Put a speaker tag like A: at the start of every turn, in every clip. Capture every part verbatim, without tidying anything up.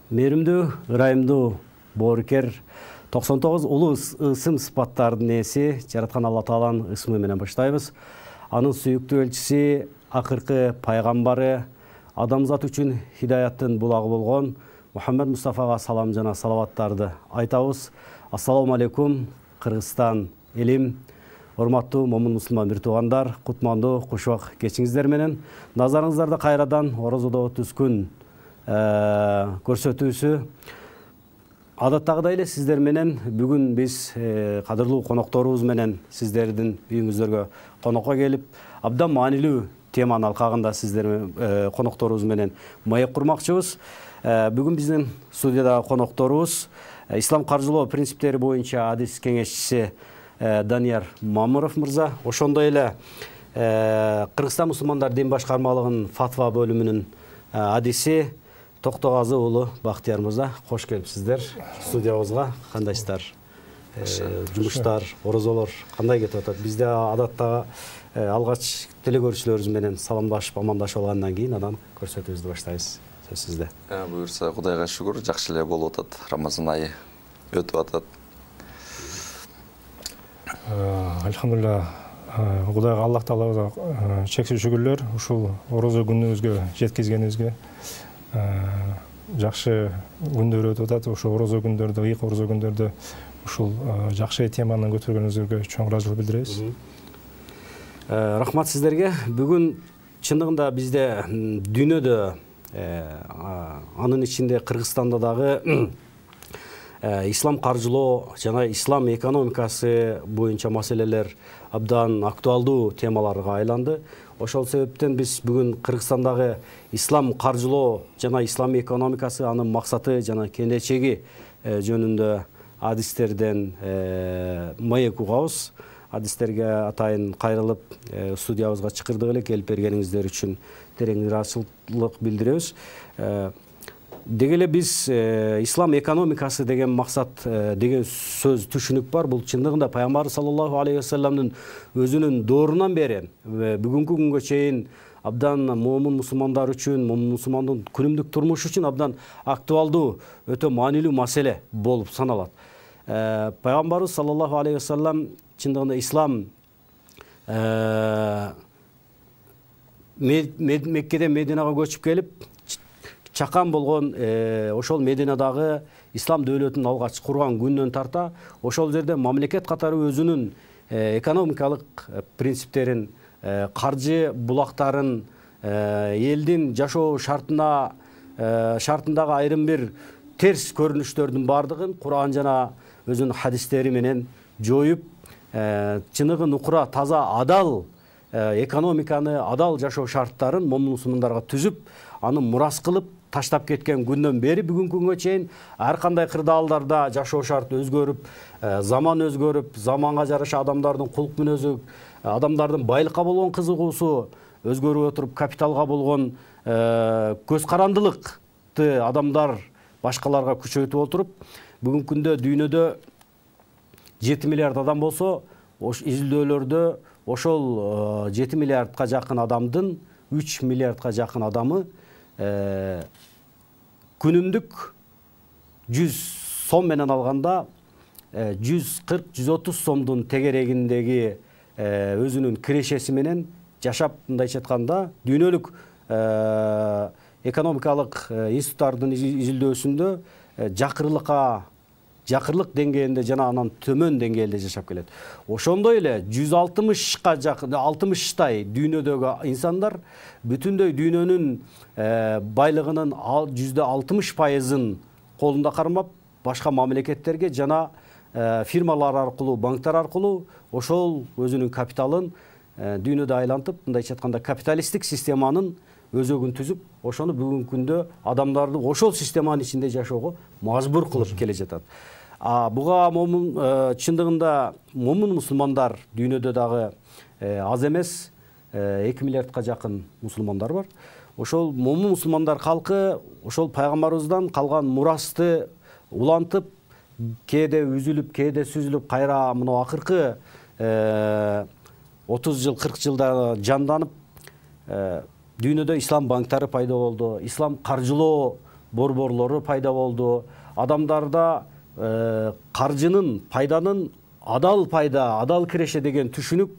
A: Мээримдүү, ырайымдуу боорукер, токсон тогуз улуу ысым сыпаттардын ээси жараткан Алла Тааланын ысмы менен баштайбыз. Анын сүйүктүү элчиси, акыркы пайгамбары, адамзат үчүн хидаяттын булагы болгон Мухаммед Мустафага салам жана салаваттарды айтабыз. Ассаламу алейкум, Кыргызстан элим, урматтуу момун мусулман бир туугандар, кутмандуу кушубак кечиңиздер менен назарыңыздарда кайрадан орозодо түз күн көрсөтүүсү. Адаттагыдай эле сиздер менен бүгүн биз кадырлуу конокторубуз менен сиздердин үйүңүздөргө конокко келип, абдан маанилүү теманын алкагында сиздер конокторубуз менен маек курмакчыбыз. Бүгүн биздин студиядагы конокторубуз ислам каржылоо принциптери боюнча адис кеңешчиси Данияр Мамыров мырза, ошондой эле Кыргызстан мусулмандар дин башкармалыгынын фатва бөлүмүнүн адиси Токтогазы уулу Бактияр мырза. Кош келипсиздер студиябызга. Кандайсыздар? Жумуштар, орозолор кандай кетип атат? Бизде адатта алгач теле көрүүчүлөрүбүз менен саламдашып, амандашып алгандан кийин анан көрсөтүүбүздү баштайбыз. Сөз сизде.
B: Буюрса, Кудайга шүгүр, жакшы эле болуп атат. Рамазан айы өтүп атат.
C: Альхамдулилла, Кудайга, Аллах Таалага чексиз шүгүрлөр ушул орозо күнүбүзгө жеткизгенибизге. Жакшы күндөр өтүп атат. Ошо орозо күндөрдө, ыйык орозо күндөрдө ушул жакшы теманы көтөргөнүңүзгө чоң ыраазычылык билдиребиз.
A: Рахмат сиздерге. Бүгүн чындыгында бизде дүйнөдө, анын ичинде Кыргызстанда дагы ислам каржылоо жана ислам экономикасы боюнча маселелер абдан актуалдуу темаларга айланды. Ошол себептен биз бүгүн Кыргызстандагы ислам каржылоо жана ислам экономикасы, анын максаты жана келечеги жөнүндө адистерден маек угабыз. Адистерге атайын кайрылып, студиябызга чакырдык эле, келип бергениңиздер үчүн терең ыраазычылык билдиребиз. Деги эле биз ислам экономикасы деген максат деген сөз түшүнүк бар. Бул чындыгында пайгамбар саллаллаху алейхи вассаламдын өзүнүн доорунан бери бүгүнкү күнгө чейин абдан момун мусулмандар үчүн, момун мусулмандын күнүмдүк турмушу үчүн абдан актуалдуу, өтө маанилүү маселе болуп саналат. Пайгамбарыбыз саллаллаху алейхи вассалам чындыгында ислам Меккеден Мединага көчүп келип, чакан болгон ошол Мединадагы ислам дөөлөтүн алгач курган күндөн тарта ошол жерде мамлекет катары өзүнүн экономикалык принциптерин, каржы булактарын, элдин жашоо шартына шартындагы айрым бир терс көрүнүштөрдүн бардыгын Кур'ан жана өзүнүн хадистери менен жоюп, чыныгы нукура, таза, адал экономиканы, адал жашоо шарттарын момун мусулмандарга түзүп, аны мурас кылып таштап кеткен күндөн бери бүгүнкү күнгө чейин ар кандай кырдаалдарда жашоо шарты өзгөрүп, заман өзгөрүп, заманга жараша адамдардын кулк мүнөзү, адамдардын байлыкка болгон кызыгуусу өзгөрүп отуруп, капиталга болгон көз карандылыкты адамдар башкаларга күчөйтүп отуруп, бүгүнкү күндө дүйнөдө жети миллиард адам болсо, изилдөөлөрдө ошол жети миллиардка жакын адамдын үч миллиардка жакын адамы күнүмдүк жүз сом менен алганда жүз кырк жүз отуз сомдун тегерегиндеги өзүнүн кирешеси менен жашап, мындайча айтканда, дүйнөлүк экономикалык институттардын изилдөөсүндө жакырлыкка жакырлык деңгээлинде жана анан төмөн деңгээлде жашап келет. Ошондой эле жүз алтымышка жакын, алтымыштай дүйнөдөгү инсандар бүтүндөй дүйнөнүн байлыгынын жүздө алтымыш пайызын колунда кармап, башка мамлекеттерге жана фирмалар аркылуу, банктар аркылуу ошол өзүнүн капиталын дүйнөдө айлантып, мындайча айтканда капиталисттик системанын өзөгүн түзүп, ошону бүгүнкү күндө адамдарды ошол системанын ичинде жашоого мажбур кылып келе жатат. Буга момун чындыгында момун мусулмандар дүйнөдө дагы аз эмес, эки миллиардка жакын мусулмандар бар. Ошол момун мусулмандар калкы ошол пайгамбарыбыздан калган мурасты улантып, кээде үзүлүп, кээде сүзүлүп, кайра мына акыркы отуз жыл, кырк жылда жанданып, дүйнөдө ислам банктары пайда болду, ислам каржылоо борборлору пайда болду. Адамдарда каржынын, пайданын адал пайда, адал киреше деген түшүнүк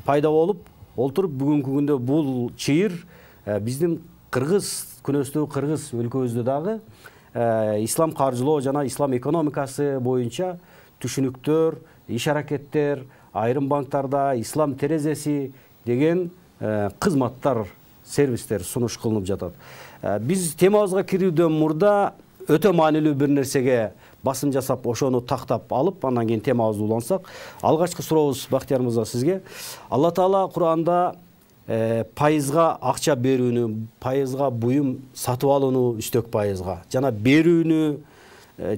A: пайда болуп олтуруп бүгүнкү күндө бул чыйыр биздин кыргыз, күнөстүү кыргыз өлкөбүздө дагы ислам каржылоо жана ислам экономикасы боюнча түшүнүктөр, иш аракеттер, айрым банктарда ислам терезеси деген кызматтар, сервистер сунуш кылынып жатат. Биз темабызга кирүүдөн мурда өтө маанилүү бир нерсеге басым жасап, ошону тактап алып, андан кийин темабызды улансак, алгачкы сурообуз Бактияр мырза сизге. Алла Таала Кур'анда пайызга акча берүүнү, пайызга буюм сатып алууну үстөк пайызга жана берүүнү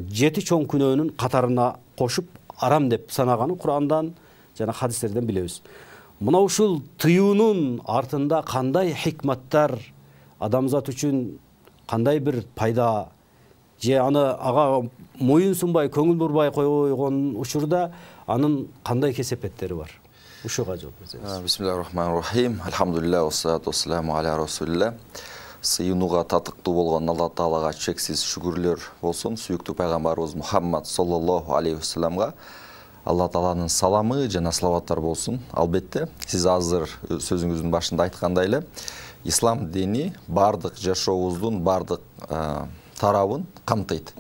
A: жети чоң күнөөнүн катарына кошуп арам деп санаганын Кур'андан жана хадистерден билебиз. Мына ушул тыюунун артында кандай хикматтар, адамзат үчүн кандай бир пайда, же аны ага моюн сунбай, көңүл бурбай койгон учурда анын кандай кесепеттери бар? Ушуга жооп берсеңиз.
B: Бисмиллахир-рахманир-рахим. Алхамдулилlah, вассалату вассаламу аля расулилlah. Сыйынууга татыктуу болгон Алла Таалага чексиз шүгүрлөр болсун. Сүйүктүү пайгамбарыбыз Мухаммад саллаллаху алейхи вассаламга Алла Тааланын саламы жана салаваттар болсун. Албетте, сиз азыр сөзүңүздүн башында айткандай эле, ислам дини бардык жашообуздун бардык тарабын камтыйт.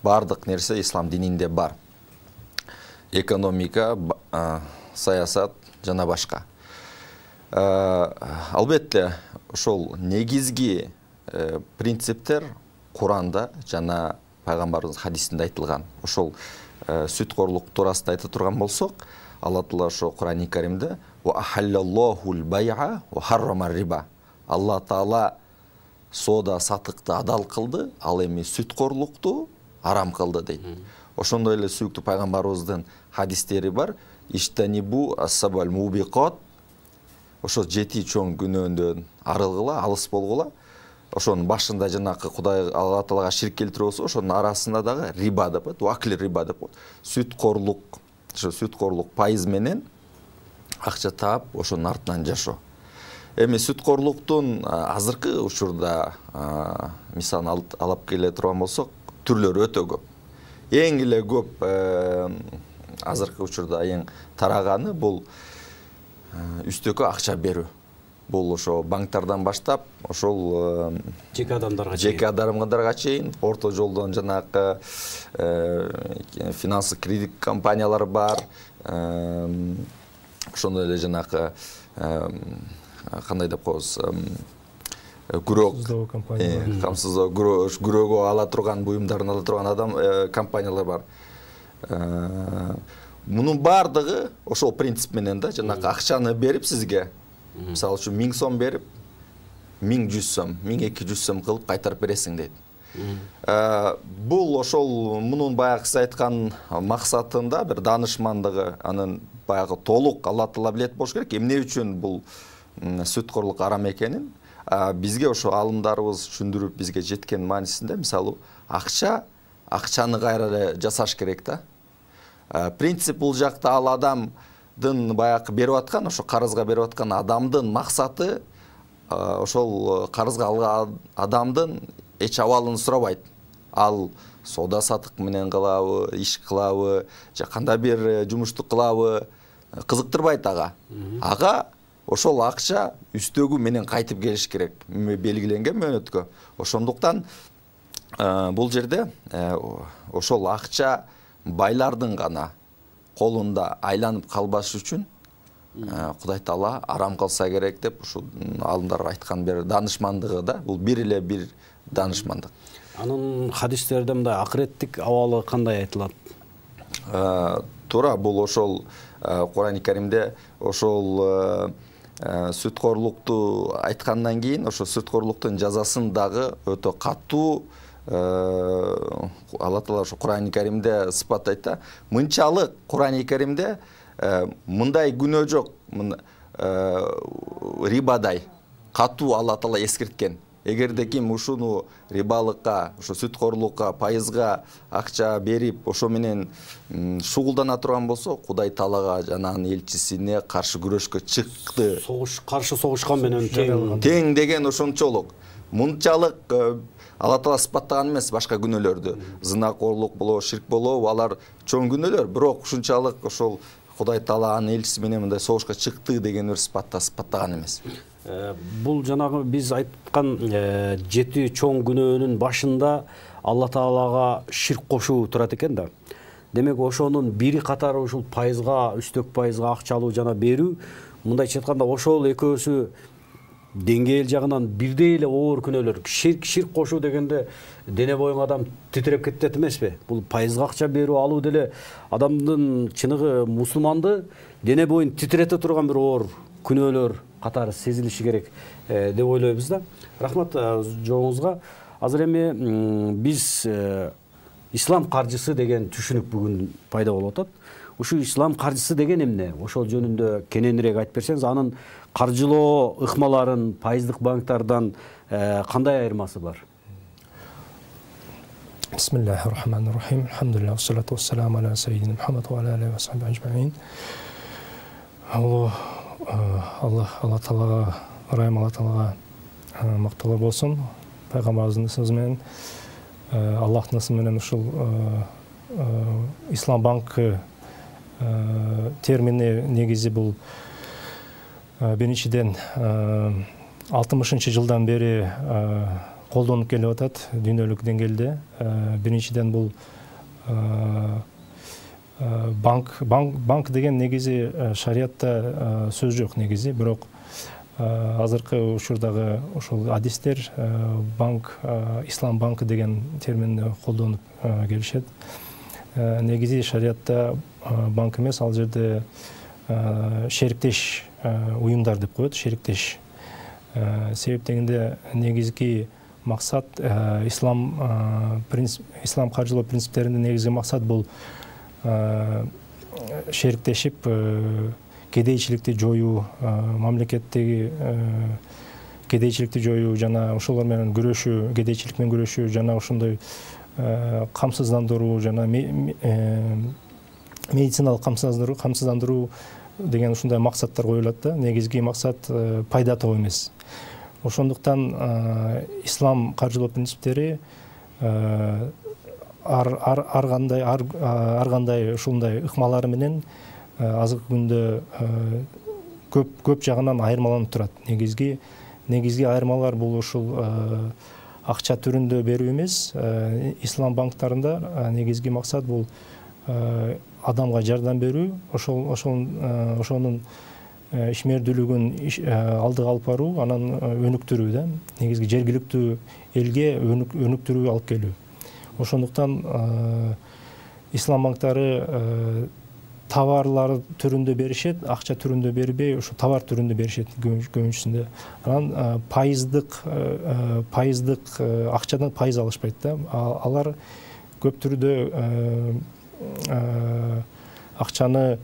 B: Бардык нерсе ислам дининде бар. Экономика, саясат жана башка. Албетте, ошол негизги принциптер Кур'анда жана пайгамбарыбыздын хадисинде айтылган. Ошол сүткорлук туурасында айта турган болсок, Алла Таала ошо Кур'ани Каримде «Ва ахаллаллахул бай'a ва харрама риба». Алла Таала соода сатыкты адал кылды, ал эми сүткорлукту арам кылды дейт. Ошондой эле сүйүктүү пайгамбарыбыздын хадистери бар. Иштанибу ас-сабал мубиқат. Ошо жети чоң күнөөндөн арылгыла, алыс болгула. Ошонун башында жанакы Кудай Алла Таалага ширк келтирип болсо, ошонун арасында дагы риба деп коет, вакли риба деп коет. Сүткорлук, ошо сүткорлук пайыз менен акча таап, ошонун артынан жашоо. Эми сүткорлуктун азыркы учурда мисалын алып келе турган болсок, түрлөрү өтө көп. Эң эле көп азыркы учурда эң тараганы бул үстөккө акча берүү. Бул ошо банктардан баштап, ошол
A: жеке адамдарга
B: чейин, жеке адамдарга чейин, орто жолдон жанакы финансы кредит компаниялар бар. Ошондой эле жанакы кандай деп коебуз, күрөк камсыздоо, күрөөгө ала турган, буюмдарын ала турган адам компаниялар бар. Мунун бардыгы ошол принцип менен да, жанакы акчаны берип сизге, мисалы үчүн миң сом берип, миң жүз сом, миң эки жүз сом кылып кайтарып бересиң дейт. Бул ошол мунун баягы айткан максатында бир данышмандыгы, анын баягы толук Алла Таала билет болуш керек. Эмне үчүн бул сүткорлук арам экенин бизге ошо алымдарыбыз түшүндүрүп бизге жеткен маанисинде, мисалы, акча, акчаны кайра эле жасаш керек да. Принцип бул жакта ал адамдын баягы берип аткан, ошо карызга берип аткан адамдын максаты ошол карызга алган адамдын эч абалын сурабайт. Ал соода сатык менен кылабы, иш кылабы, же кандай бир жумушту кылабы, кызыктырбайт ага. Ага ошол акча үстөгү менен кайтып келиш керек, белгиленген мөөнөткө. Ошондуктан бул жерде ошол акча байлардын гана колунда айланып калбаш үчүн Кудай Таала арам кылса керек деп ушу алымдар айткан бир данышмандыгы да, бул бир эле бир данышмандык.
A: Анын хадистерде мындай акыреттик абалы кандай айтылат?
B: Туура, бул ошол Кур'ани Каримде ошол сүткорлукту айткандан кийин, ошо сүткорлуктун жазасын дагы өтө катуу Алла Таала ошо Кур'ани Каримде сыпаттайт да. Мынчалык Кур'ани Каримде мындай күнөө жок, рибадай катуу Алла Таала эскерткен. Эгерде ким ушуну рибалыкка, ошо сүткорлукка, пайызга акча берип, ошо менен шугулдана турган болсо, Кудай Таалага жана анын элчисине каршы күрөшкө чыкты.
A: Согуш, каршы согушкан менен тең.
B: Тең деген ошончолук. мынчалык Алла Таала сыпаттаган эмес башка күнөөлөрдү. Зынакорлук болобу, ширк болобу, алар чоң күнөөлөр, бирок ушунчалык ошол Кудай Таала анын элчиси менен мындай согушка чыкты деген бир сыпатта сыпаттаган эмес.
A: Бул жанагы биз айткан жети чоң күнөөнүн башында Алла Таалага ширк кошуу турат экен да. Демек ошонун бири катары ушул пайызга, үстөк пайызга акча алуу жана берүү, мындайча айтканда ошол экөөсү деңгээл жагынан бирдей эле оор күнөөлөр. Ширк ширк кошуу дегенде дене боюң адам титиреп кетет эмеспи? Бул пайызга акча берүү алуу деле адамдын чыныгы мусулманды дене боюн титирете турган бир оор күнөөлөр катары сезилиши керек деп ойлойбуз да. Рахмат жообуңузга. Азыр эми биз ислам каржысы деген түшүнүк бүгүн пайда болуп атат. Ушу ислам каржысы деген эмне? Ошол жөнүндө кененирээк айтып берсеңиз, анын каржылоо ыкмаларын пайыздык банктардан кандай айырмасы бар?
C: Бисмиллахир-рахманир-рахим. Алхамдулиллах, вассалату вассаламу аля саййидина Мухаммад ва аля алейхи ва сахбихи аджмаин. Аллах Алла Таалага, ырайым Алла Таалага макталар болсун. Пайгамбарыбыздын ысымы менен, Аллахтын ысымы менен ушул Ислам банкы термини негизи бул биринчиден алтымышынчы жылдан бери колдонуп келип атат дүйнөлүк деңгээлде. Биринчиден бул банк банк деген негизи шариатта сөз жок негизи, бирок азыркы учурдагы ушул адистер банк, ислам банкы деген терминди колдонуп келишет. Негизи шариатта банк эмес, ал жерде шериктеш уюмдар деп коет, шериктеш. Себеп дегенде негизги максат ислам ислам каржылоо принциптеринин негизги максат бул шериктешип кедейчиликти жоюу, мамлекеттеги кедейчиликти жоюу жана ошолор менен күрөшүү, кедейчилик менен күрөшүү жана ошондой камсыздандыруу жана медициналык камсыздандыруу камсыздандыруу деген ушундай максаттар коюлат да. Негизги максат пайда табуу эмес. Ошондуктан ислам каржылоо принциптери ар ар кандай ар кандай ушундай ыкмалары менен азыркы күндө көп көп жагынан айырмаланып турат. Негизги негизги айырмалар бул ушул акча түрүндө берүү эмес. Ислам банктарында негизги максат бул адамга жардам берүү, ошол ошол ошонун ишмердүүлүгүн алдыга алып баруу, анан өнүктүрүү да. Негизги жергиликтүү элге өнүктүрүү алып келүү. Ошондуктан ислам банктары товарлар түрүндө беришет, акча түрүндө бербей, ошо товар түрүндө беришет көбүнчүсүндө. Анан пайыздык пайыздык акчадан пайыз алышпайт да. Алар көп түрдө акчаны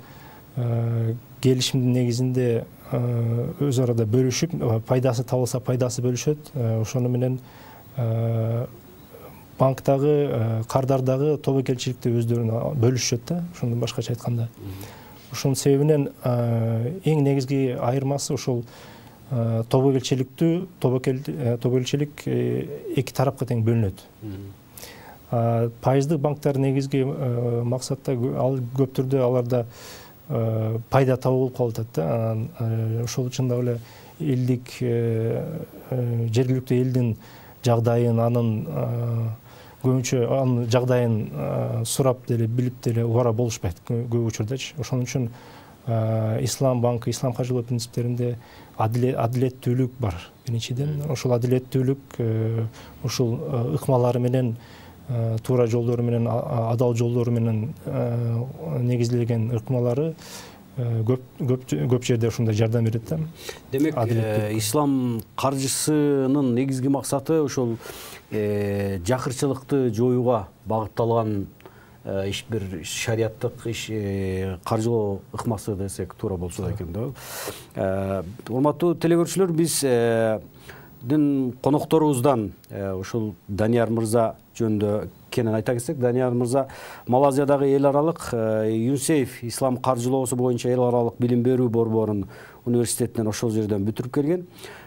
C: келишимдин негизинде өз арада бөлүшүп, пайдасы табылса пайдасы бөлүшөт. Ошону менен банктагы кардардагы тобокелчиликти өздөрүнө бөлүшөт да, ошондон башкача айтканда. Ошонун себебинен эң негизги айырмасы ошол тобокелчиликтүү тобокелчилик эки тарапка тең бөлүнөт. Пайыздык банктар негизги максатта ал көп түрдө аларда пайда табуу болуп калып атат да. Ошол үчүн дагы эле элдик жергиликтүү элдин жагдайын, анын көбүнчө анын жагдайын сурап деле билип деле убара болушпайт көп учурдачы. Ошон үчүн ислам банкы, ислам каржылоо принциптеринде адилеттүүлүк бар. Биринчиден, ошол адилеттүүлүк ушул ыкмалары менен, туура жолдору менен, адал жолдору менен негизделген ыкмалары көп көп жерде ушундай жардам берет да.
A: Демек, ислам каржысынын негизги максаты ошол жакырчылыкты жоюуга багытталган иш бир шариаттык иш каржылоо ыкмасы десек туура болсо экен да. Урматтуу телекөрүүчүлөр, биз биздин конокторубуздан ушул Данияр мырза жөнүндө кенен айта кетсек, Данияр мырза Малайзиядагы эл аралык ЮНИСЕФ ислам каржылоосу боюнча эл аралык билим берүү борборун университетинен ошол жерден бүтүрүп келген.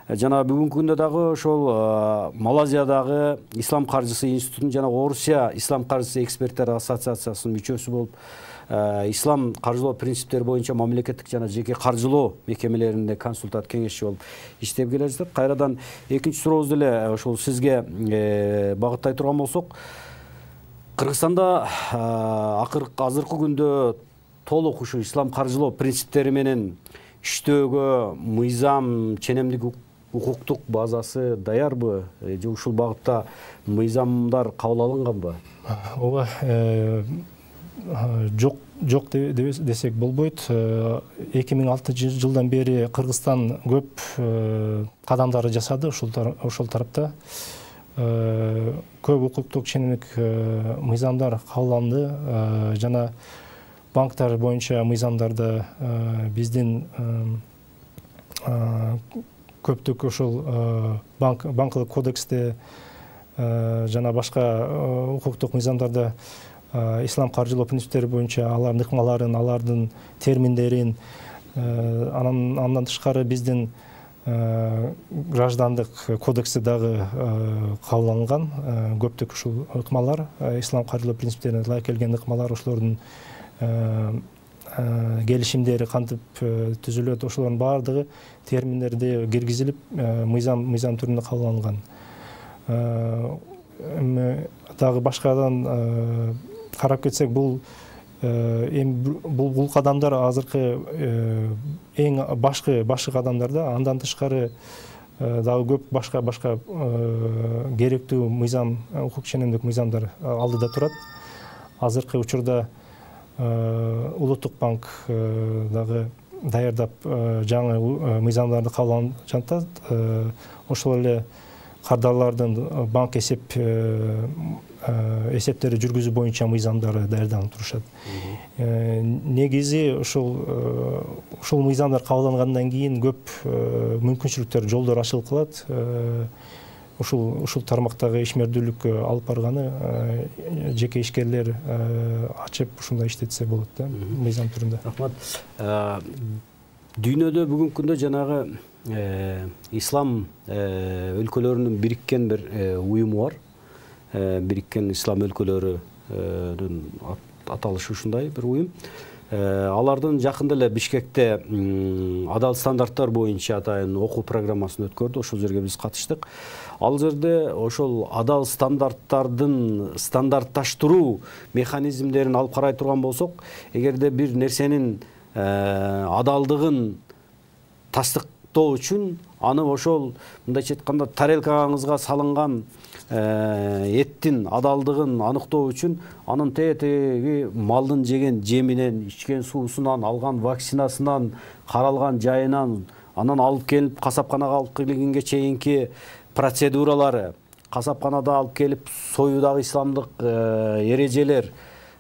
A: Жана бүгүнкү күндө дагы ошол Малайзиядагы ислам каржысы институтунун жана Орусия ислам каржысы эксперттер ассоциациясынын мүчөсү болуп, ислам каржылоо принциптери боюнча мамлекеттик жана жеке каржылоо мекемелеринде консультант кеңешчи болуп иштеп келе жатат. Кайрадан экинчи сурообузду эле ошол сизге багыттай турган болсок, Кыргызстанда азыркы күндө толук ушу ислам каржылоо принциптери менен иштөөгө мыйзам, ченемдик укуктук базасы даярбы же ушул багытта мыйзамдар кабыл алынганбы?
C: Ооба, жок жок десек болбойт. эки миң алтынчы жылдан бери Кыргызстан көп кадамдарды жасады ошол тарапта. Көп укуктук ченемдик мыйзамдар кабыл алынды жана банктар боюнча мыйзамдарды биздин көптүк ошол банкылык кодексте жана башка укуктук мыйзамдарда ислам каржылоо принциптери боюнча алардын ыкмаларын, алардын терминдерин, андан тышкары биздин граждандык кодексте дагы кабыл алынган көптүк ушул ыкмалар, ислам каржылоо принциптерине ылайык келген ыкмалар, ошолордун келишимдери кантип түзүлөт, ошолордун баардыгы терминдерде киргизилип, мыйзам мыйзам түрүндө кабыл алынган. Дагы башкадан карап кетсек, бул бул бул кадамдар азыркы эң башкы башкы кадамдар да. Андан тышкары дагы көп башка башка керектүү мыйзам, укук ченемдик мыйзамдар алдыда турат. Азыркы учурда Улуттук банк дагы даярдап жаңы мыйзамдарды кабыл алып жатат. Ошол эле кардарлардын банк эсеп эсептери жүргүзүү боюнча мыйзамдары даярданып турушат. Негизи ушул ушул мыйзамдар кабыл алынгандан кийин көп мүмкүнчүлүктөр, жолдор ачылып калат. Ушул ушул тармактагы ишмердүүлүккө алып барганы жеке ишкерлер ачып ушундай иштетсе болот да, мыйзам түрүндө.
A: Рахмат. Дүйнөдө бүгүнкү күндө жанагы ислам өлкөлөрүнүн бириккен бир уюму бар. Бириккен ислам өлкөлөрүнүн аталышы ушундай бир уюм. Алардын жакында эле Бишкекте адал стандарттар боюнча атайын окуу программасын өткөрдү. Ошол жерге биз катыштык. Ал жерде ошол адал стандарттардын стандартташтыруу механизмдерин алып карай турган болсок, эгерде бир нерсенин адалдыгын тастыктоо үчүн аны ошол мындайча айтканда тарелкаңызга салынган эттин адалдыгын аныктоо үчүн анын тетеги малдын жеген жеминен, ичкен суусунан, алган вакцинасынан, каралган жайынан, анан алып келип касапканага алып келгенге чейинки процедуралары, касапканада алып келип союудагы исламдык эрежелер,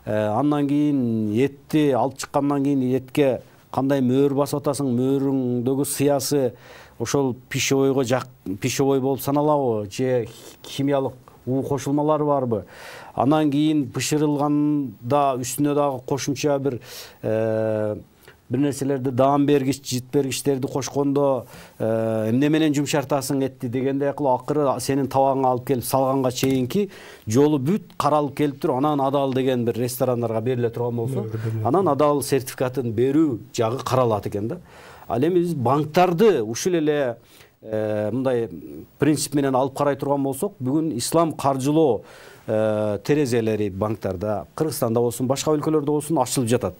A: андан кийин этти алып чыккандан кийин этке кандай мөөр басып атасың, мөөрүңдөгү сыясы ошол пищевойго жак пищевой болуп саналабы же химиялык уу кошулмалары барбы? Анан кийин бышырылганда үстүнө дагы кошумча бир бир нерселерди даам бергич, жит бергичтерди кошкондо эмне менен жумшартасың этти дегенде акыры сенин табагыңа алып келип салганга чейинки жолу бүт каралып келип туруп, анан адал деген бир ресторандарга бериле турган болсо, анан адал сертификатын берүү жагы каралат экен да. Ал эми биз банктарды ушул эле мындай принцип менен алып карай турган болсок, бүгүн ислам каржылоо терезелери банктарда, Кыргызстанда болсун, башка өлкөлөрдө болсун ачылып жатат.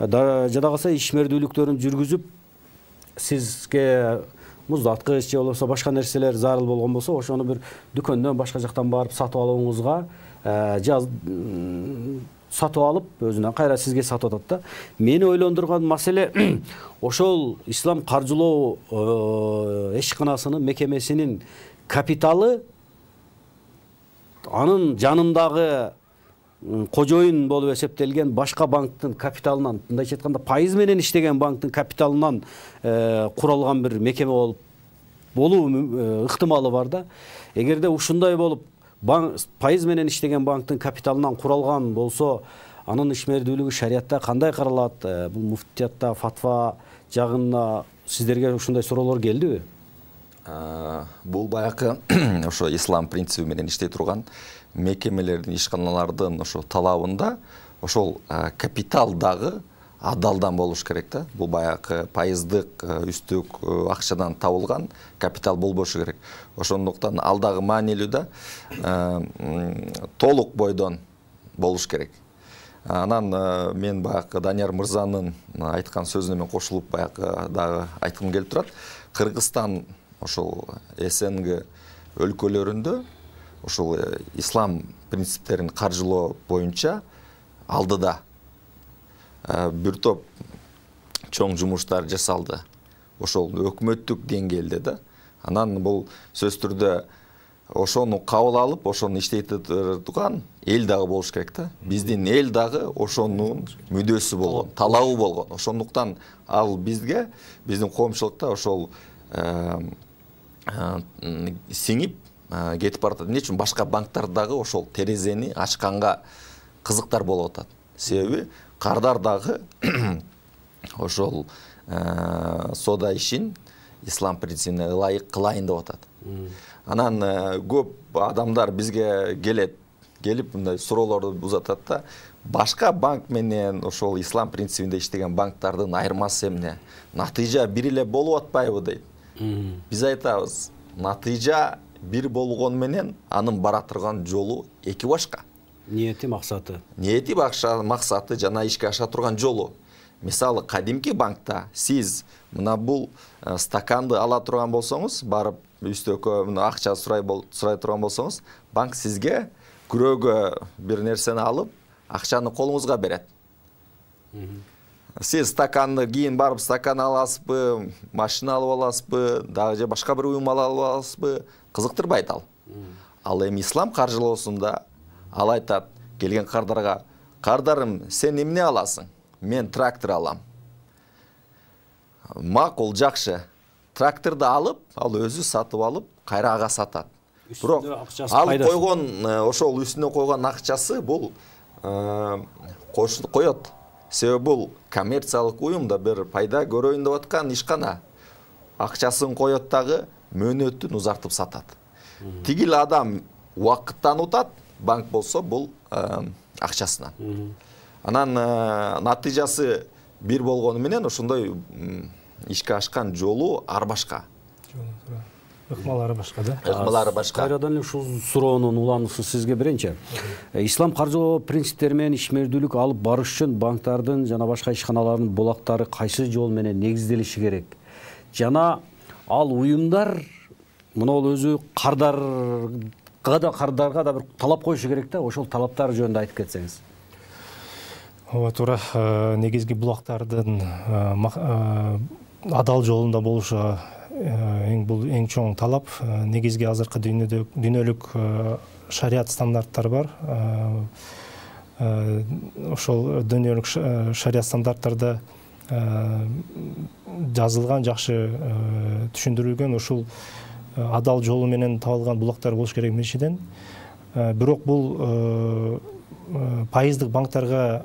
A: Жада калса ишмердүүлүктөрүн жүргүзүп, сизге муздаткыч же болбосо башка нерселер зарыл болгон болсо, ошону бир дүкөндөн башка жактан барып сатып алууңузга сатып алып, өзүнөн кайра сизге сатып атат да. Мени ойлондурган маселе ошол ислам каржылоо ишканасынын мекемесинин капиталы анын жанындагы кожоюн болуп эсептелген башка банктын капиталынан, мындайча айтканда пайыз менен иштеген банктын капиталынан куралган бир мекеме болуп болуу ыктымалы бар да. Эгерде ушундай болуп банк пайыз менен иштеген банктын капиталынан куралган болсо, анын ишмердүүлүгү шариятта кандай каралат? Бул муфтиятта фатва жагына сиздерге ушундай суроолор келдиби?
B: Бул баягы ошо ислам принциби менен иштей турган мекемелердин, ишканалардын ошо талабында ошол капитал дагы адалдан болуш керек да. Бул баягы пайыздык үстүк акчадан табылган капитал болбошу керек. Ошондуктан ал дагы маанилүү да, толук бойдон болуш керек. Анан мен баягы Данияр мырзанын айткан сөзүнө мен кошулуп баягы дагы айткым келип турат. Кыргызстан ошол СНГ өлкөлөрүндө ошол ислам принциптерин каржылоо боюнча алдыда бир топ чоң жумуштар жасалды. Ошол өкмөттүк деңгээлде да. Анан бул сөз түрдө ошону кабыл алып, ошону иштетип турган эл дагы болуш керек да. Биздин эл дагы ошонун мүдөөсү болгон, талабы болгон. Ошондуктан ал бизге, биздин коомчулукта ошол сиңип кетип баратат. Эмне үчүн башка банктар дагы ошол терезени ачканга кызыктар болуп атат. Себеби кардар дагы ошол соода ишин ислам принцибине ылайык кылайын деп атат. Анан көп адамдар бизге келет, келип мындай суроолорду узатат да, башка банк менен ошол ислам принцибинде иштеген банктардын айырмасы эмне? Натыйжа бир эле болуп атпайбы дейт. Биз айтабыз, натыйжа бир болгон менен анын бара турган жолу эки башка.
A: Ниети, максаты.
B: Ниети, максаты жана ишке аша турган жолу. Мисалы, кадимки банкта сиз мына бул стаканды ала турган болсоңуз, барып үстөккө акча сурай сурай турган болсоңуз, банк сизге күрөөгө бир нерсени алып, акчаны колуңузга берет. Сиз стаканды кийин барып стакан аласызбы, машина алып аласызбы, дагы же башка бир уюм алып аласызбы, кызыктырбайт ал. Ал эми ислам каржылоосунда ал айтат келген кардарга, кардарым, сен эмне аласың? Мен трактор алам. Макул, жакшы. Тракторду алып, ал өзү сатып алып, кайра ага сатат. Бирок ал койгон, ошол үстүнө койгон акчасы бул коет. Себеби бул коммерциялык уюмда бир пайда көрөйүн деп аткан ишкана. Акчасын коет дагы мөөнөтүн узартып сатат. Тигил адам убакыттан утат, банк болсо бул акчасынан. Анан натыйжасы бир болгону менен ошондой ишке ашкан жолу ар башка.
C: Ыкмалары башка да.
B: Ыкмалары башка.
A: Кайрадан эле ушул суроонун улануусун сизге берейинчи. Ислам каржылоо принциптери менен ишмердүүлүк алып барыш үчүн банктардын жана башка ишканалардын булактары кайсы жол менен негизделиши керек? Жана ал уюмдар мына өзү кардарга да кардарга да бир талап коюшу керек да, ошол талаптар жөнүндө айтып кетсеңиз.
C: Ооба, туура. Негизги булактардын адал жолунда болушу эң бул эң чоң талап. Негизги азыркы дүйнөдө дүйнөлүк шарият стандарттары бар. Ошол дүйнөлүк шарият стандарттарда жазылган, жакшы түшүндүрүлгөн ушул адал жолу менен табылган булактар болуш керек биринчиден. Бирок бул пайыздык банктарга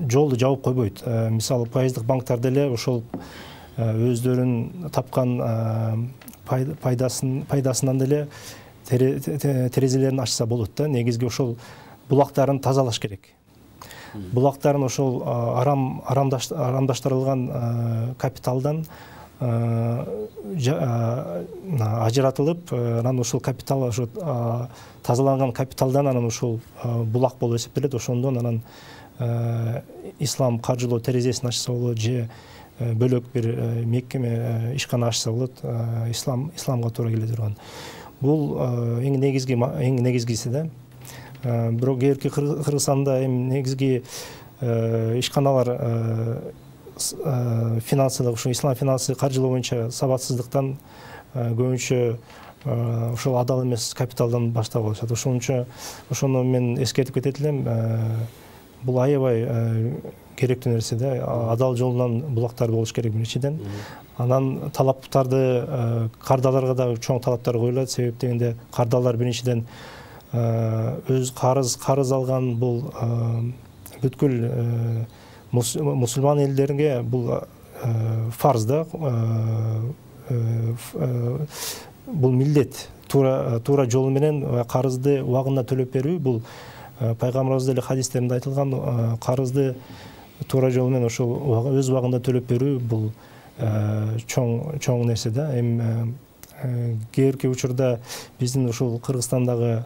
C: жолду жабып койбойт. Мисалы, пайыздык банктар деле ошол өздөрүн тапкан пайдасын пайдасынан деле терезелерин ачса болот да. Негизги ошол булактарын тазалаш керек. Булактарын ошол арам арамдаштырылган капиталдан ажыратылып, анан ошол капитал, ошо тазаланган капиталдан анан ошол булак болуп эсептелет. Ошондон анан ислам каржылоо терезесин ачса болот, же бөлөк бир мекеме ишкана ачса болот, ислам исламга туура келе турган. Бул эң негизги эң негизгиси да. Бирок кээ Кыргызстанда эми негизги ишканалар финансылык, ушу ислам финансы каржылоо боюнча сабатсыздыктан көбүнчө ошол адал эмес капиталдан баштап алышат. Ошончо ошону мен эскертип кетет элем. Бул аябай керектүү нерсе да, адал жолунан булактар болуш керек биринчиден. Анан талаптарды кардаларга да чоң талаптар коюлат. Себеп дегенде кардалар биринчиден өз карыз карыз алган бул бүткүл мусулман элдерге бул фарз да, бул милдет. Туура туура жолу менен карызды убагында төлөп берүү бул пайгамбарыбыз деле хадистеринде айтылган, карызды туура жолу менен ошол өз убагында төлөп берүү бул чоң чоң нерсе да. Эми кээ бирки учурда биздин ушул Кыргызстандагы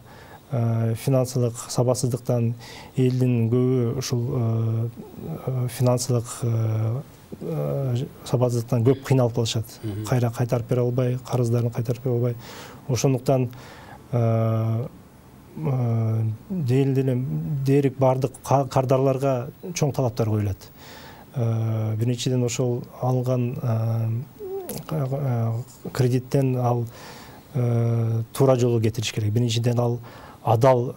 C: финансылык сабатсыздыктан элдин көбү ушул финансылык сабатсыздыктан көп кыйналып калышат. Кайра кайтарып бере албай, карыздарын кайтарып бере албай. Ошондуктан дээрлик бардык кардарларга чоң талаптар коюлат. Биринчиден ошол алган кредиттен ал туура жолго кетириш керек. Биринчиден ал адал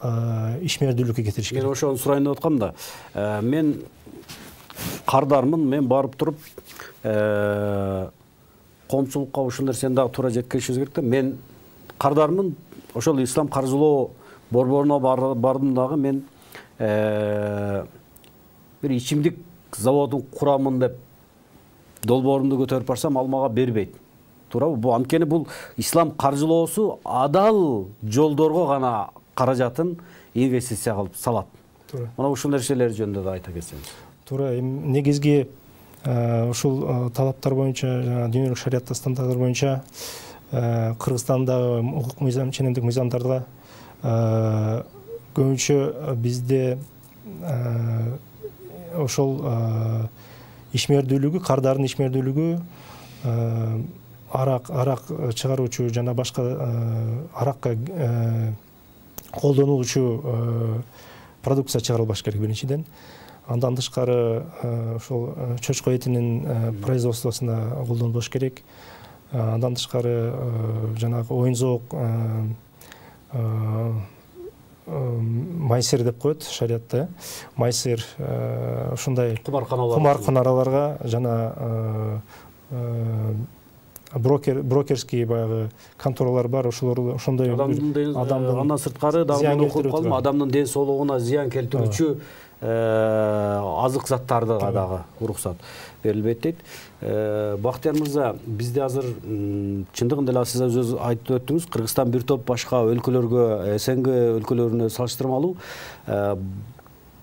C: ишмердүүлүккө кетириш керек.
A: Мен ошону сурайын деп аткам да. Мен кардармын, мен барып туруп коомчулукка ушул нерсени дагы туура жеткиришибиз керек да. Мен кардармын, ошол ислам каржылоо борборуна бардым дагы, мен бир ичимдик заводун курамын деп долбоорумду көтөрүп барсам, ал мага бербейт. Туурабы? Бул анткени бул ислам каржылоосу адал жолдорго гана каражатын инвестиция кылып салат.
C: Туура.
A: Мына ушул нерселер жөнүндө да айта кетсеңиз.
C: Туура. Негизги ушул талаптар боюнча, жана дүйнөлүк шариятта стандарттар боюнча Кыргызстандагы укук мыйзам, ченемдик мыйзамдарда көбүнчө бизде ошол ишмердүүлүгү, кардардын ишмердүүлүгү арак арак чыгаруучу жана башка аракка колдонулуучу продукция чыгарылбаш керек биринчиден. Андан тышкары ошол чочко этинин производствосуна колдонулуш керек. Андан тышкары жанагы оюн-зоок майсер деп коет шариятта. Майсер ушундай кумарканаларга жана брокер брокерский баягы конторалар бар, ошолор ошондой
A: адамдын андан сырткары дагы окуп калдым, адамдын ден соолугуна зыян келтирүүчү азык заттарга дагы уруксат берилбейт дейт. Бактияр мырза, бизде азыр чындыгында эле сиз өзүңүз айтып өттүңүз, Кыргызстан бир топ башка өлкөлөргө, СНГ өлкөлөрүнө салыштырмалуу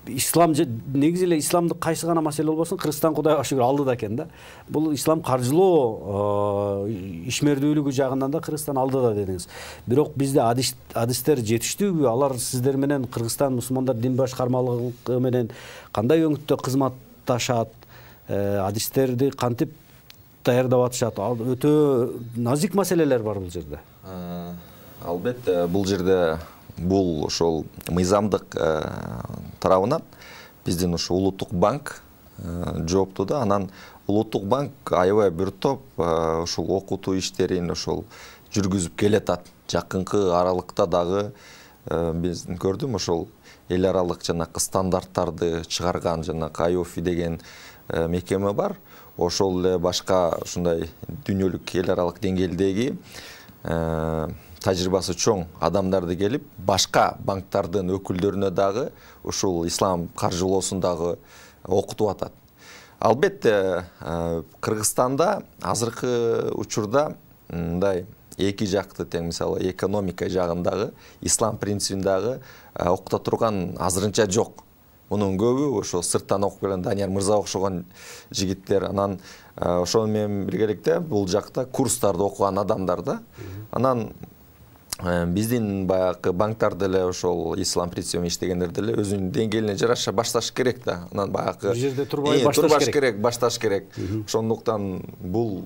A: ислам негизи эле исламдык кайсы гана маселе болбосун, Кыргызстан Кудайга шүгүр алдыда экен да. Бул ислам каржылоо ишмердүүлүгү жагынан да Кыргызстан алдыда дедиңиз. Бирок бизде адистер жетиштүүбү? Алар сиздер менен Кыргызстан мусулмандар дин башкармалыгы менен кандай өңүттө кызматташат? Адистерди кантип даярдап атышат? Өтө назик маселелер бар бул жерде.
B: Албетте, бул жерде бул ошол мыйзамдык тарабынан биздин ушу улуттук банк жооптуу да. Анан улуттук банк аябай бир топ ошол окутуу иштерин ошол жүргүзүп келатат. Жакынкы аралыкта дагы биз көрдүм, ошол эл аралык жанакы стандарттарды чыгарган жанакы ай о эф деген мекеме бар. Ошол эле башка ушундай дүйнөлүк эл аралык деңгээлдеги тажрыйбасы чоң адамдарды келип, башка банктардын өкүлдөрүнө дагы ушул ислам каржылоосун дагы окутуп атат. Албетте, Кыргызстанда азыркы учурда мындай эки жакты тең, мисалы экономика жагындагы ислам принцибин дагы окута турган азырынча жок. Мунун көбү ошо сырттан окуп келген Данияр мырза окшогон жигиттер, анан ошону менен биргеликте бул жакта курстарды окуган адамдар да. Анан биздин баягы банктар деле ошол ислам принцибимен иштегендер деле өзүнүн деңгээлине жараша башташ керек да. Анан баягы
A: бир жерде турбай башташ
B: керек, башташ керек. Ошондуктан бул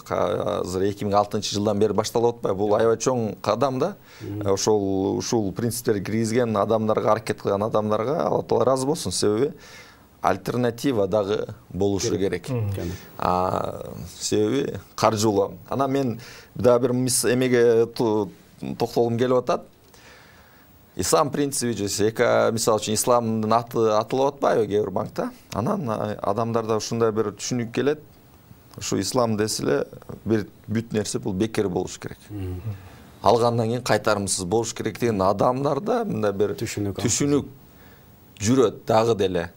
B: азыр эки миң алтынчы жылдан бери башталып атпайбы? Бул аябай чоң кадам да. Ошол ушул принциптерди киргизген адамдарга, аракет кылган адамдарга Алла Таала ыраазы болсун. Себеби альтернатива дагы болушу керек. Себеби каржылоо. Анан мен дагы бир эмеге токтолгум келип атат. ислам принциби же мисалы үчүн исламдын аты аталып атпайбы кээ бир банкта, анан адамдарда ушундай бир түшүнүк келет, ушу ислам десе эле бир бүт нерсе бул бекер болуш керек, алгандан кийин кайтарымсыз болуш керек деген адамдарда мындай бир түшүнүк түшүнүк жүрөт дагы деле.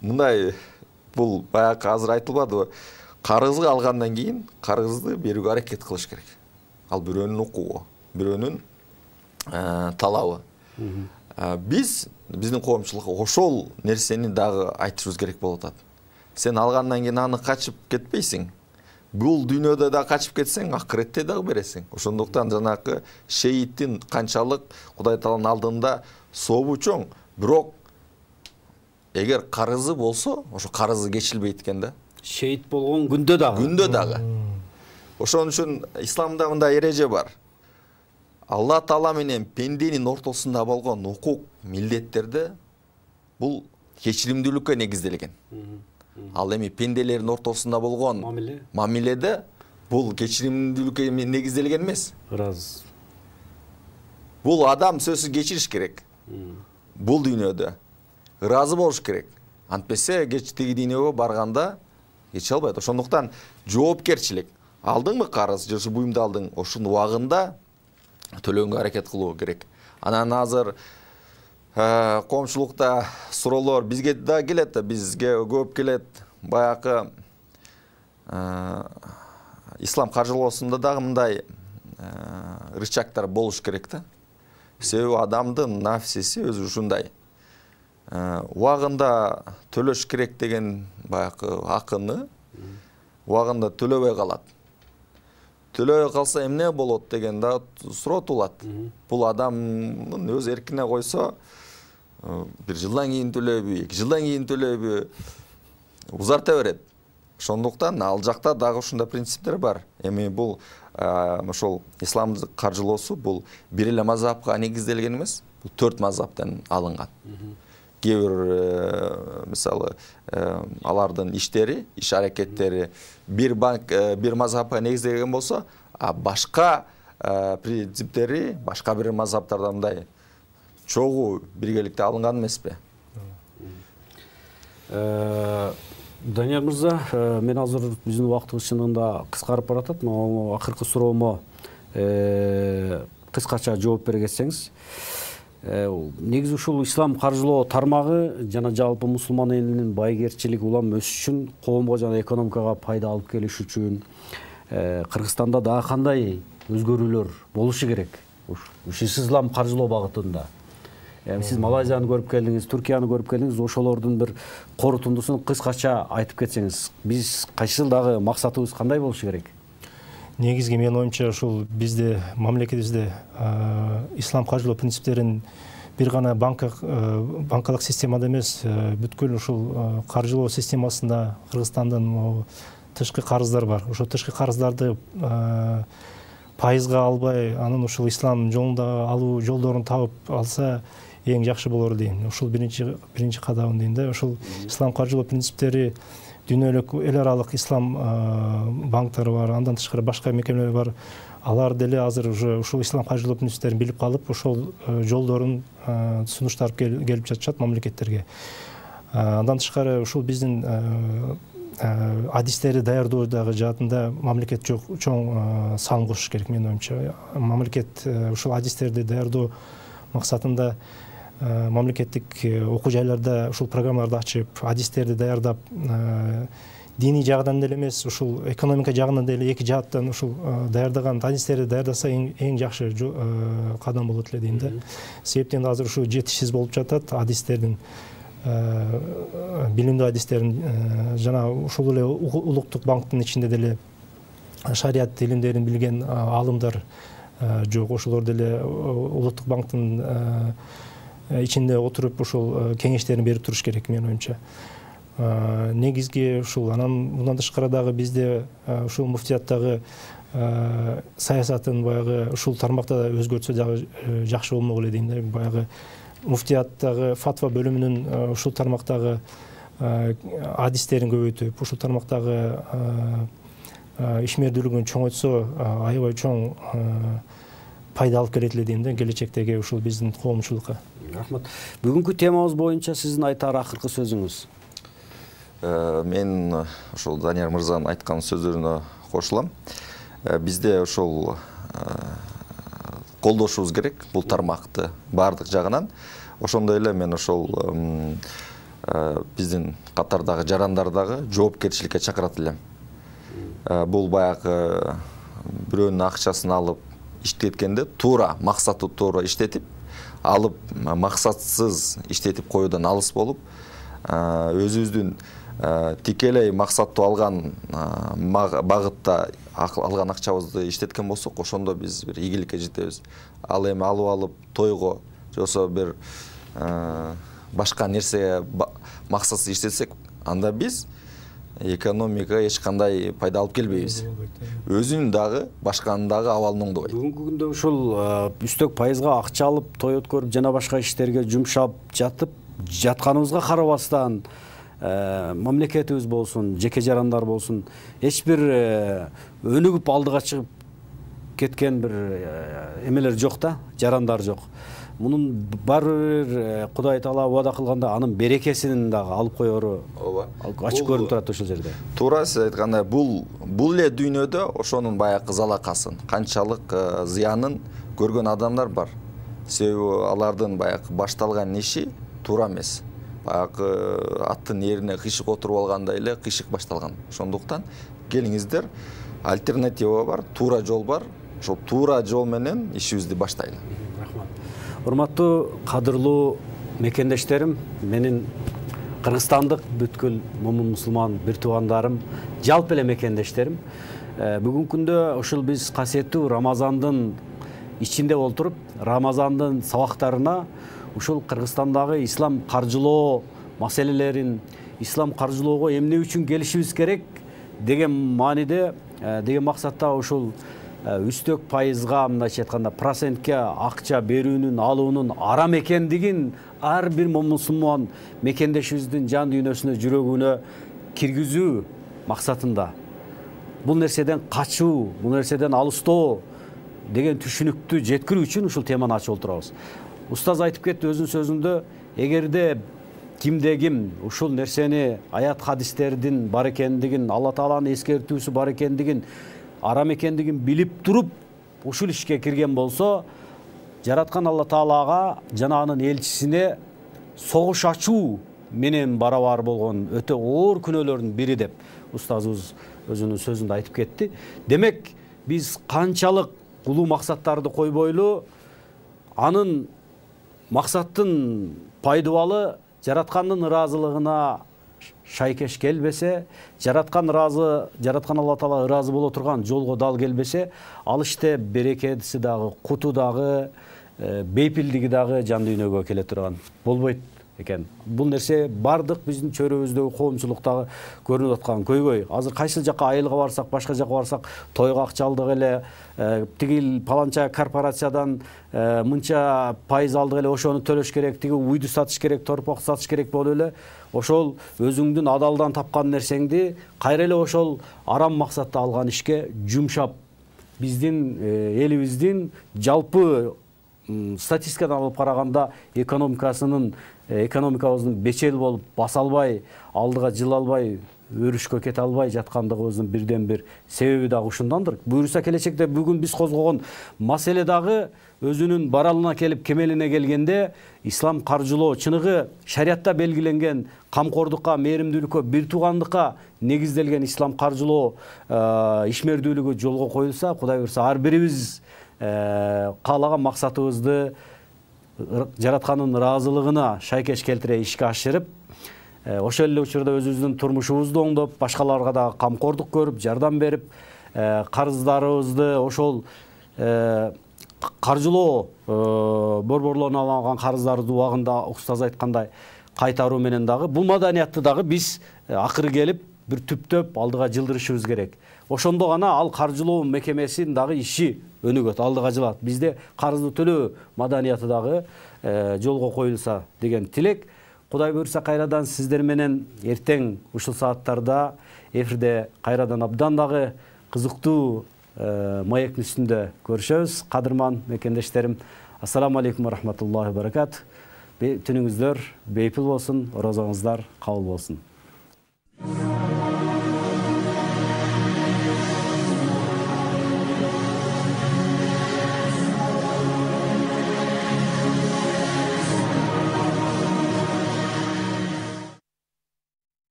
B: Мындай бул баягы азыр айтылбадыбы, карызды алгандан кийин карызды берүүгө аракет кылыш керек. Ал бирөөнүн укугу, бирөөнүн талабы. Биз биздин коомчулукка ошол нерсени дагы айтышыбыз керек болуп атат. Сен алгандан кийин аны качып кетпейсиң. Бул дүйнөдө да качып кетсең, акыретте дагы бересиң. Ошондуктан жанагы шейиттин канчалык Кудай Тааланын алдында сообу чоң, бирок эгер карызы болсо, ошо карызы кечилбейт экен да.
A: Шейит болгон күндө дагы.
B: Күндө дагы. Ошон үчүн исламда мындай эреже бар. Алла Таала менен пенденин ортосунда болгон укук, милдеттерде бул кечиримдүүлүккө негизделген. Ал эми пенделердин ортосунда болгон мамиледе бул кечиримдүүлүккө негизделген эмес.
A: Ыраз.
B: Бул адам сөзсүз кечириш керек. Бул дүйнөдө ыраазы болуш керек. Антпесе кеч тиги дүйнөгө барганда кече албайт. Ошондуктан жоопкерчилик. Алдыңбы карыз, же буюмду алдың, ошонун убагында төлөнгө аракет кылуу керек. Анан азыр коомчулукта суроолор бизге да келет да, бизге көп келет. Баягы ислам каржылоосунда дагы мындай рычагдар болуш керек да. Себеби адамдын нафсиси өзү ушундай. Убагында төлөш керек деген баягы акыны убагында төлөбөй калат. Төлөбөй калса эмне болот деген да суроо туулат. Бул адамдын өз эркине койсо, бир жылдан кийин төлөйбү, эки жылдан кийин төлөйбү, узарта берет. Ошондуктан ал жакта дагы ушундай принциптер бар. Эми бул ошол исламдык каржылоосу бул бир эле мазхабка негизделген эмес, бул төрт мазхабтан алынган. Кээ бир мисалы алардын иштери, иш аракеттери бир банк, бир мазхабка негизделген болсо, а башка принциптери башка бир мазхабтардан мындай чогуу биргеликте алынган эмеспи?
A: Данияр мырза, мен азыр биздин убактыбыз чындыгында кыскарып баратат. Мына акыркы суроомо кыскача жооп бере кетсеңиз. Негизи ушул ислам каржылоо тармагы жана жалпы мусулман элинин байгерчилик улам өсүш үчүн, коомго жана экономикага пайда алып келиш үчүн Кыргызстанда дагы кандай өзгөрүүлөр болушу керек? Ушу ислам каржылоо багытында. Сиз Малайзияны көрүп келдиңиз, Түркияны көрүп келдиңиз, ошолордун бир корутундусун кыскача айтып кетсеңиз, биз кайсы жылдагы максатыбыз кандай болушу керек?
C: Негизги менин оюмча ушул бизде мамлекетибизде ислам каржылоо принциптерин бир гана банкалык системада эмес, бүткүл ушул каржылоо системасында Кыргызстандын тышкы карыздар бар. Ошо тышкы карыздарды пайызга албай, анын ушул ислам жолунда алуу жолдорун табып алса эң жакшы болор дейм. Ушул биринчи биринчи кадам дейм да. Ушул ислам каржылоо принциптери дүйнөлүк эл аралык ислам банктары бар, андан тышкары башка мекемелер бар. Алар деле азыр уже ушул ислам каржылоо принциптерин билип калып, ошол жолдорун сунуштарып келип жатышат мамлекеттерге. Андан тышкары ушул биздин адистерди даярдоодагы жаатында мамлекет чоң салым кошуш керек менин оюмча. Мамлекет ушул адистерди даярдоо максатында мамлекеттик окуу жайларда ушул программаларды ачып, адистерди даярдап, диний жагынан деле эмес, ушул экономика жагынан деле эки жааттан ушул даярдаган адистерди даярдаса эң жакшы кадам болот эле дейм да. Себептен азыр ушул жетишсиз болуп жатат адистердин, билимдүү адистерин, жана ушул эле улуттук банктын ичинде деле шарият илимдерин билген аалымдар жок. Ошолор деле улуттук банктын ичинде отуруп ушул кеңештерин берип туруш керек менин оюмча. Негизги ушул. Анан мындан тышкары дагы бизде ушул муфтияттагы саясатын баягы ушул тармакта өзгөртсө дагы жакшы болмок эле дейм да. Баягы муфтияттагы фатва бөлүмүнүн ушул тармактагы адистерин көбөйтүп, ушул тармактагы ишмердүүлүгүн чоңойтсо, аябай чоң пайда алып келет эле дейм да келечектеги ушул биздин коомчулукка.
A: Рахмат. Бүгүнкү темабыз боюнча сиздин айтар акыркы сөзүңүз?
B: Мен ошол Данияр мырзанын айткан сөздөрүнө кошулам. Бизде ошол колдошубуз керек бул тармакты баардык жагынан. Ошондой эле мен ошол биздин катардагы жарандар дагы жоопкерчиликке чакырат элем. Бул баягы бирөөнүн акчасын алып иштеткенде туура максаты туура иштетип, алып максатсыз иштетип коюудан алыс болуп, өзүбүздүн тикелей максаттуу алган багытта алган акчабызды иштеткен болсок, ошондо биз бир ийгиликке жетебиз. Ал эми алып алып тойго жосо бир башка нерсеге максатсыз иштетсек, анда биз экономикага эч кандай пайда алып келбейбиз. Өзүнүн дагы, башканын дагы абалын оңдобойт.
A: Бүгүнкү күндө ушул үстөк пайызга акча алып, той өткөрүп, жана башка иштерге жумшап жатып, жатканыбызга карабастан, мамлекетибиз болсун, жеке жарандар болсун, эч бир өнүгүп алдыга чыгып кеткен бир эмелер жок да, жарандар жок. Мунун баары Кудай Таала убада кылганда анын берекесин дагы алып коеру ачык көрүнүп турат ошол жерде.
B: Туура сиз айткандай, бул бул эле дүйнөдө ошонун баягы залакасын, канчалык зыянын көргөн адамдар бар. Себеби алардын баягы башталган иши туура эмес. Баягы аттын эрине кыйшык отуруп алгандай эле кыйшык башталган. Ошондуктан келиңиздер, альтернатива бар, туура жол бар. Ошол туура жол менен ишибизди баштайлы.
A: Урматтуу, кадырлуу мекендештерим, менин кыргызстандык бүткүл момун мусулман бир туугандарым, жалпы эле мекендештерим. Бүгүнкү күндө ушул биз касиеттүү Рамазандын ичинде олтуруп, Рамазандын сабактарына ушул Кыргызстандагы ислам каржылоо маселелерин, ислам каржылоого эмне үчүн келишибиз керек деген мааниде, деген максатта ушул үстөк пайызга, мындайча айтканда, процентке акча берүүнүн, алуунун арам экендигин ар бир мусулман мекендешибиздин жан дүйнөсүнө, жүрөгүнө киргизүү максатында бул нерседен качуу, бул нерседен алыстоо деген түшүнүктү жеткирүү үчүн ушул теманы ачып отурабыз. Устаз айтып кетти өзүнүн сөзүндө, эгерде кимде ким ушул нерсени, аят хадистердин бар экендигин, Алла Тааланын эскертүүсү бар экендигин, арам экендигин билип туруп ушул ишке кирген болсо, жараткан Алла Таалага жана анын элчисине согуш ачуу менен барабар болгон өтө оор күнөөлөрдүн бири деп устазыбыз өзүнүн сөзүндө айтып кетти. Демек, биз канчалык улуу максаттарды койбойлу, анын максаттын пайдубалы жараткандын ыраазылыгына шайкеш келбесе, жараткан ыраазы, жараткан Алла Таала ыраазы боло турган жолго дал келбесе, ал иште берекеси дагы, куту дагы, бейпилдиги дагы жан дүйнөгө келе турган болбойт экен. Бул нерсе бардык биздин чөйрөбүздөгү коомчулуктагы көрүнүп аткан көйгөй. Азыр кайсы жака айылга барсак, башка жака барсак, тойго акча алдык эле, тиги паланча корпорациядан мынча пайыз алдык эле, ошону төлөш керек, тиги уйду сатыш керек, торпок сатыш керек болуп эле, ошол өзүңдүн адалдан тапкан нерсеңди кайра эле ошол арам максатта алган ишке жумшап, биздин элибиздин жалпы статистикадан алып караганда экономикасынын экономикабыздын бечел болуп баса албай, алдыга жыла албай, өрүшкө кете албай жаткандыгыбыздын бирден бир себеби дагы ушундандыр. Буюрса келечекте бүгүн биз козгогон маселе дагы өзүнүн баралына келип, кемелине келгенде, ислам каржылоо чыныгы шариятта белгиленген камкордукка, мээримдүүлүккө, бир туугандыкка негизделген ислам каржылоо ишмердүүлүгү жолго коюлса, Кудай буйрса ар бирибиз каалаган максатыбызды жараткандын ыраазылыгына шайкеш келтире ишке ашырып, ошол эле учурда өзүбүздүн турмушубузду оңдоп, башкаларга дагы камкордук көрүп, жардам берип, карыздарыбызды ошол каржылоо борборлоруна алынган карыздарды убагында устаз айткандай кайтаруу менен дагы бул маданиятты дагы биз акыры келип бир түптөп алдыга жылдырышыбыз керек. Ошондо гана ал каржылоо мекемесинин дагы иши өнүгөт, алдыга жылат. Бизде карызды төлөө маданияты дагы жолго коюлса деген тилек. Кудай буйрса кайрадан сиздер менен эртең ушул сааттарда эфирде кайрадан абдан дагы кызыктуу маектин үстүндө көрүшөбүз. Кадырман мекендештерим, ассаламу алейкум ва рахматуллахи ва баракат. Түнүңүздөр бейпил болсун, орозоңуздар кабыл болсун.